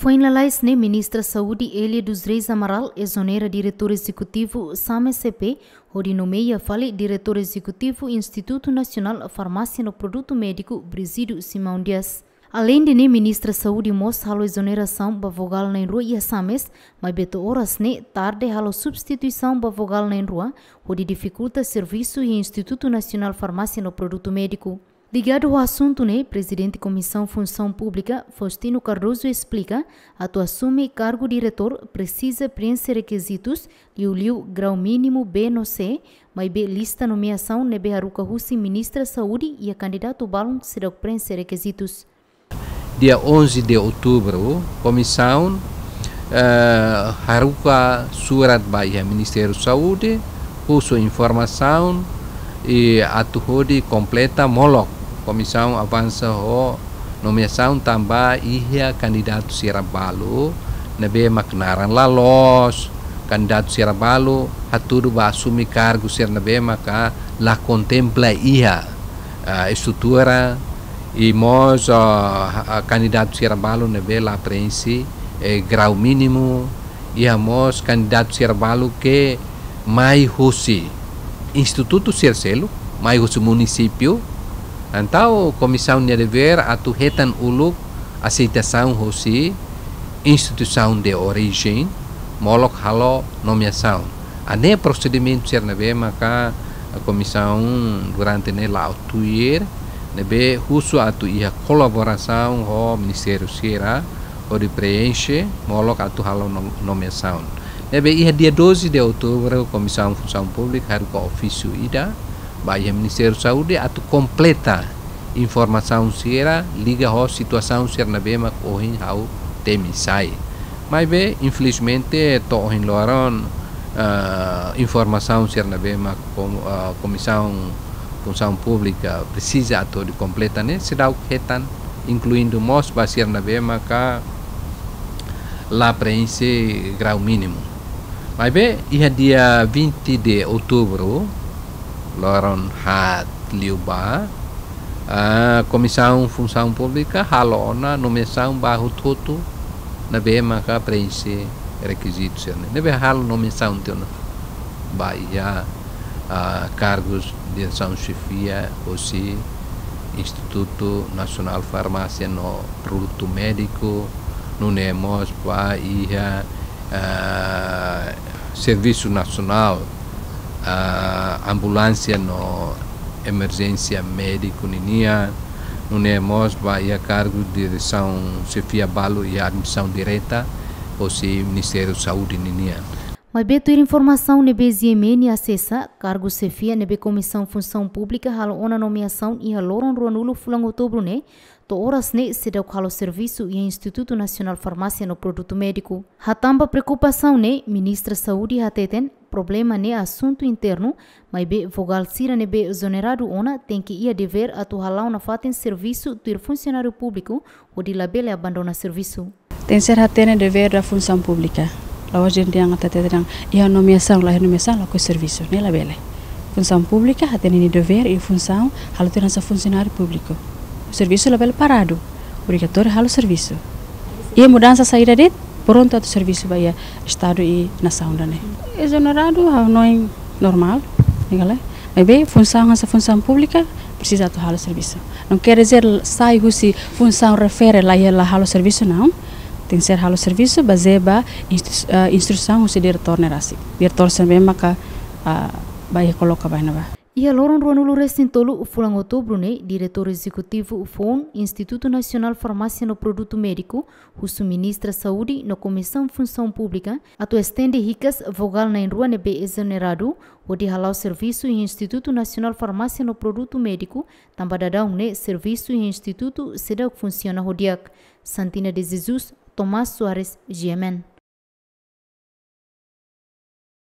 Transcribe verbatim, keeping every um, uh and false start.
Foin lalais ne'e, Ministra Saúde Elia dos Reis Amaral ezonera Diretór Ezekutivu SAMES C P, hodi nomeia fali Diretór Ezekutivu Institutu Nasionál Farmásia no Produtu Médiku, Brígido Simão Dias. Aleinde ne'e, Ministra Saúde mós halo ezonerasaun ba vogál na'in-rua iha SAMES, maibé to'o oras ne'e tarde halo substituisaun ba vogál na'in-rua, hodi difikulta servisu iha Institutu Nasionál Farmásia no Produtu Médiku. Ligadu ho asuntu ne'e, Prezidente Komisaun Funsaun Públika, Faustino Cardoso, esplika, atu asume kargu diretór presiza preenxe rekizitus, liuliu grau mínimu B no C, maibé lista nomeasaun ne'ebé haruka husi Ministra Saúde iha kandidatu balun seidauk preenxe rekizitus. Dia onze de outubro, komisaun, eh, haruka surat ba iha Ministériu Saúde, husu informasaun, i atu hodi kompleta molok. Komisaun avansa ho nomeasaun tanba iha kandidatu sira balu ne'ebé mak naran la loos, kandidatu sira balu hatudu ba asume kargu sira ne'ebé maka la kontempla iha, ah, estrutura, i mós, ah, ah, kandidatu sira balu ne'ebé la preenxe, eh, grau mínimu, iha mós kandidatu sira balu ke mai husi institutu sira seluk, mai husi munisípiu. Entaun, komisaun nia devér atu hetan uluk aseitasaun husi instituisaun de orijen, molok halo nomeasaun. Hanesan prosedimentu sira ne'ebé maka komisaun durante ne'e la'o tuir, ne'ebé husu atu iha kolaborasaun ho ministériu sira, hodi preenxe, molok atu halo nom-, nomeasaun. Ne'ebé iha dia doze de outubro, Komisaun Funsaun Públika haruka ofísiu ida ba iha Ministériu Saúde atu kompleta informasaun sira liga ho situasaun sira ne'ebé mak ohin ha'u temi sai. Maibé, infelizmente, to'o ohin loron, ah, informasaun sira ne'ebé mak kom-, ah, Komisaun Funsaun Públika presiza atu hodi kompleta ne'e seidauk hetan, inkluindu mós ba sira ne'ebé maka la preenxe grau mínimu. Maibé, iha dia vinte de outubro, loron haat liubá, ah, Komisaun Funsaun Públika halo ona nomeasaun ba hotu-hotu ne'ebé maka preenxe rekizitu sira-ne'e. Ne'ebé halo nomeasaun tiha ona ba iha, ah, kargus diresaun xefia hosi Institutu Nasionál Farmásia no Produtu Médiku, nune'e mós ba iha, ah, Servisu Nasionál, ah, Ambulánsia no Emerjénsia Médiku ninian, nune'e mós ba iha kargu diresaun xefia balu iha administrasaun direta hosi Ministériu Saúde ninian. Maibé tuir informasaun ne'ebé G M N asesa, kargu xefia ne'ebé Komisaun Funsaun Públika halo ona nomeasaun iha loron ruanulu fulan outubru ne'e, to'o oras ne'e seidauk halo servisu iha Institutu Nasionál Farmásia no Produtu Médiku. Hatán ba preokupasaun ne'e, Ministra Saúde hateten, problema ne'e asuntu internu, maibé vogál sira ne'ebé ezoneradu ona tenke iha devér atu hala'o nafatin servisu tuir funsionáriu públiku, hodi labele abandona servisu. Tenke ser hatene devér da Funsaun Públika. La'ós dehan atu hateten iha nomeasaun, la iha nomeasaun, lakohi servisu. Ne'e labele. Funsaun Públika hatene nia devér i funsaun, halo tuir hanesan funsionáriu públiku. Servisu labele paradu. Obrigatóriu halo servisu. Iha mudansa saida de'it, prontu atu servisu ba iha Estadu i nasaun ida-ne'e. Ezoneradu, ha'u hanoin normál, ne'e ka lae. Maibé, funsaun hanesan Funsaun Públika, presiza atu halo servisu. Não quer dizer sai husi funsaun refere la iha la halo servisu, não. Tenke ser halo servisu, bazeia ba instru-, ah, instrusaun husi diretór ne'e rasik. Diretór sira ne'ebé maka, ah, ba iha koloka ba iha ne'ebá. Iha loron ruanulu resin tolu fulan outubru ne'e, Diretór Ezekutivu foun Institutu Nasionál Farmásia no Produtu Médiku, husu Ministra Saúde no Komisaun Funsaun Públika, atu estende hikas vogál na'in-rua ne'ebé ezoneradu, hodi hala'o servisu iha Institutu Nasionál Farmásia no Produtu Médiku, tanba daudaun ne'e servisu iha institutu seidauk funsiona ho di'ak. Santina de Jesus, Tomás Soares, G M N.